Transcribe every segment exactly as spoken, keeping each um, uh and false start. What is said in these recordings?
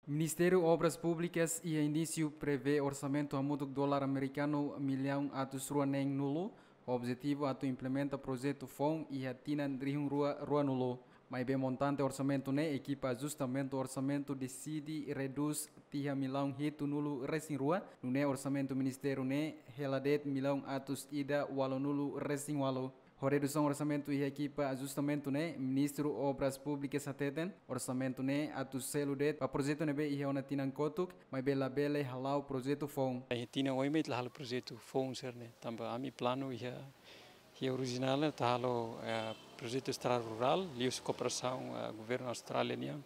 Ministériu Obras Públikas iha inísiu prevee orsamentu hamutuk dolar amerikanu millaun atus rua neen nulu, objetivu atu implementa projetu foun iha tinan rihun rua rua nulu. Maibé montante orsamentu ne'e ekipa ajustamentu orsamentu deside redús tiha millaun hitu nulu resin rua, nune'e orsamentu ministériu ne'e hela de'it millaun atus ida walu nulu resin walu. Ho redusaun orsamentu iha ekipa ajustamentu ne'e, Ministru Obras Públikas hateten, orsamentu ne'e atu selu de'it ba projetu ne'ebé iha ona tinan kotuk, maibé labele hala'o projetu foun. Iha tinan oin mak ita la halo projetu foun sira-ne'e, tanba ami planu iha, iha orijinál ita halo, eh, projetu estrada rurál, liuhusi kooperasaun, eh, governu Austrália nian,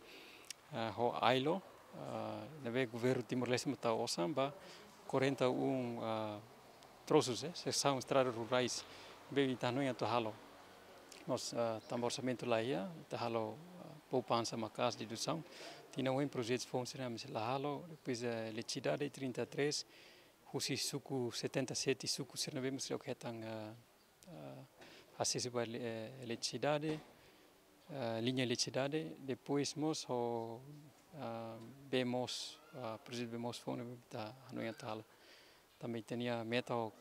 eh, ho ailo, eh, ne'ebé governu Timor-Leste mak tau osan ba quarenta e um, eh, troços, eh, seksaun estradas rurais, ne'ebé ita hanoin atu halo. Mas, ah, tanba orsamentu la iha, ita halo, ah, poupansa maka'as dedusaun. Tinan oin projetu foun sira-ne'e ami sei la halo, depois, eh, eletrisidade trinta e três, husi suku setenta e sete suku sira-ne'ebé mós sei hetan, ah, ah, asesu ba ele-, eh, eletrisidade, ah, liña eletrisidade, depois mós ho, ah, bee moos, ah, projetu bee moos foun ne'ebé ita hanoin atu halo. Tanba ita-nia meta ho,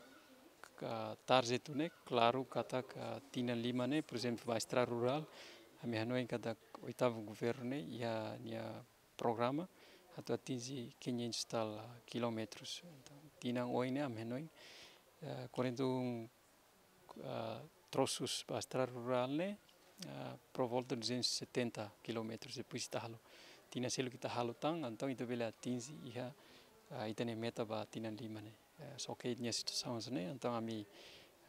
ah, target ne'e, klaru katak tinan lima ne'e, por ezemplu, ba estrada rurál, ami hanoin katak oitavu governu ne'e iha nia programa atu atinje quinhentos tal, ah, quilómetros. Entaun, tinan oin ne'e ami hanoin, ah, quarenta e um, ah, troços ba estrada rurál ne'e, ah, por volta duzentos e setenta quilómetros, depois ita halo. Tinan seluk ita halo tan, entaun ita bele atinje iha, ah, ita-nia meta ba tinan lima ne'e. Eh, só que nia situasaun hanesan ne'e, entaun ami,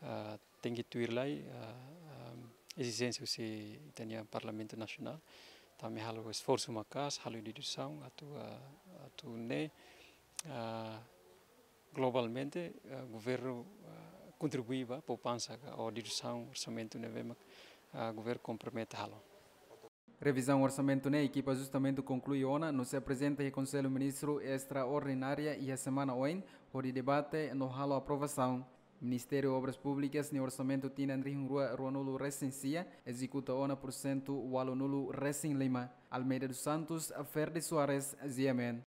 ah, tenke tuir lai, ah, ah, ezijénsia husi ita-nia Parlamentu Nasionál. Entaun ami halo esforsu maka'as, halo dedusaun, atu, ah, atu nune'e, ah, globalmente, ah, governu, ah, kontribui ba poupansa ka, ou dedusaun orsamentu ne'ebé mak, ah, governu kompromete halo. Revizaun orsamentu ne'e ekipa ajustamentu konklui ona, no sei aprezenta iha Konsellu Ministru estraordinária iha semana oin, hodi debate no halo aprovasaun. Ministériu Obras Públikas nia orsamentu tinan rihun rua rua nulu resin sia ezekuta ona pursentu walu nulu resin lima. Almeida dos Santos, Ferdi Soares, G M N.